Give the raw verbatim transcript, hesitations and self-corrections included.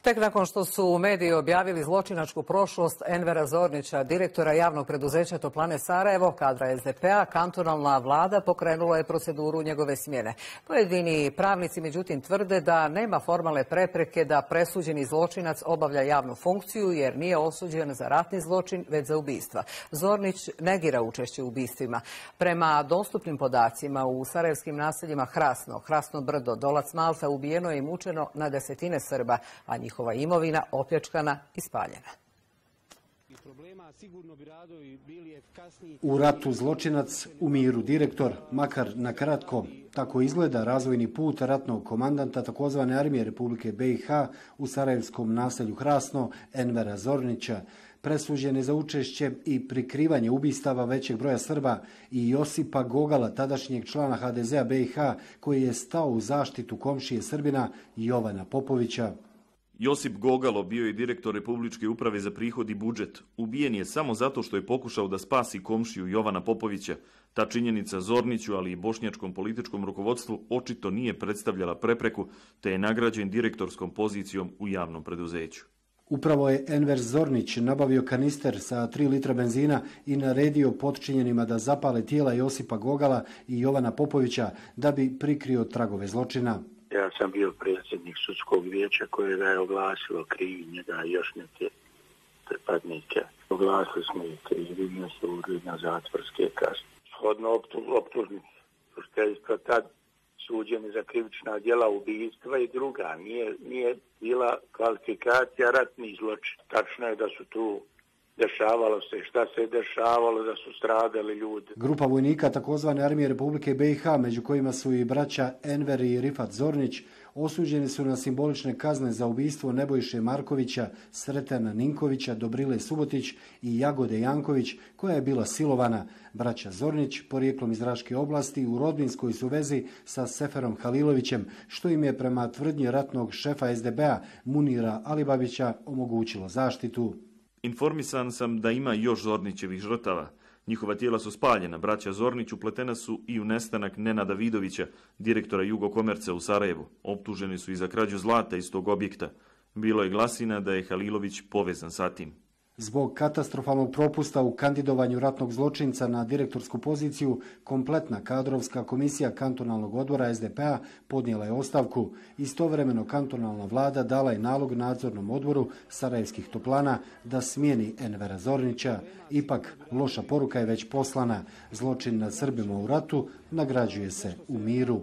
Tek nakon što su mediji objavili zločinačku prošlost Envera Zornića, direktora javnog preduzeća Toplane Sarajevo, kadra es de pe a, kantonalna vlada pokrenula je proceduru njegove smjene. Pojedini pravnici međutim tvrde da nema formalne prepreke da presuđeni zločinac obavlja javnu funkciju jer nije osuđen za ratni zločin već za ubistva. Zornić negira učešće u ubistvima. Prema dostupnim podacima u sarajevskim naseljima Hrasno, Hrasno Brdo, Dolac Malta ubijeno je i mučeno na desetine Srba, a njihova imovina opljačkana i spaljena. U ratu zločinac, u miru direktor, makar na kratko. Tako izgleda razvojni put ratnog komandanta takozvane armije Republike be i ha u sarajevskom naselju Hrasno, Envera Zornića. Presuđen je za učešće i prikrivanje ubistava većeg broja Srba i Josipa Gogala, tadašnjeg člana ha de ze a be i ha, koji je stao u zaštitu komšije Srbina Jovana Popovića. Josip Gogalo bio je direktor Republičke uprave za prihod i budžet. Ubijen je samo zato što je pokušao da spasi komšiju Jovana Popovića. Ta činjenica Zorniću, ali i bošnjačkom političkom rukovodstvu očito nije predstavljala prepreku, te je nagrađen direktorskom pozicijom u javnom preduzeću. Upravo je Enver Zornić nabavio kanister sa tri litra benzina i naredio potčinjenima da zapale tijela Josipa Gogala i Jovana Popovića da bi prikrio tragove zločina. Ja sam bio predsjednik sudskog vijeća koje ga je oglasilo krivi, njega i još neke pripadnike. Oglasili smo i krivi, mi se urili na zatvorske kazne. Shodno optužnici, što je isto tad suđeni za krivična djela ubistva i druga. Nije, nije bila kvalifikacija ratnih zločina. Tačno je da su tu dešavalo se, šta se je dešavalo, da su stradali ljudi. Grupa vojnika takozvane armije Republike be i ha, među kojima su i braća Enver i Rifat Zornić, osuđeni su na simbolične kazne za ubistvo Nebojše Markovića, Sretana Ninkovića, Dobrile Subotić i Jagode Janković, koja je bila silovana. Braća Zornić, porijeklom iz Raške oblasti, u rodbinskoj su vezi sa Seferom Halilovićem, što im je prema tvrdnji ratnog šefa es de be a Munira Alibabića omogućilo zaštitu. Informisan sam da ima još Zornićevih žrtava. Njihova tijela su spaljena. Braća Zornić upletena su i u nestanak Nenada Vidovića, direktora Jugokomerca u Sarajevu. Optuženi su i za krađu zlata iz tog objekta. Bilo je glasina da je Halilović povezan sa tim. Zbog katastrofalnog propusta u kandidovanju ratnog zločinca na direktorsku poziciju, kompletna kadrovska komisija kantonalnog odbora es de pe a podnijela je ostavku. Istovremeno kantonalna vlada dala je nalog nadzornom odboru sarajevskih toplana da smijeni Envera Zornića. Ipak, loša poruka je već poslana. Zločin nad Srbima u ratu nagrađuje se u miru.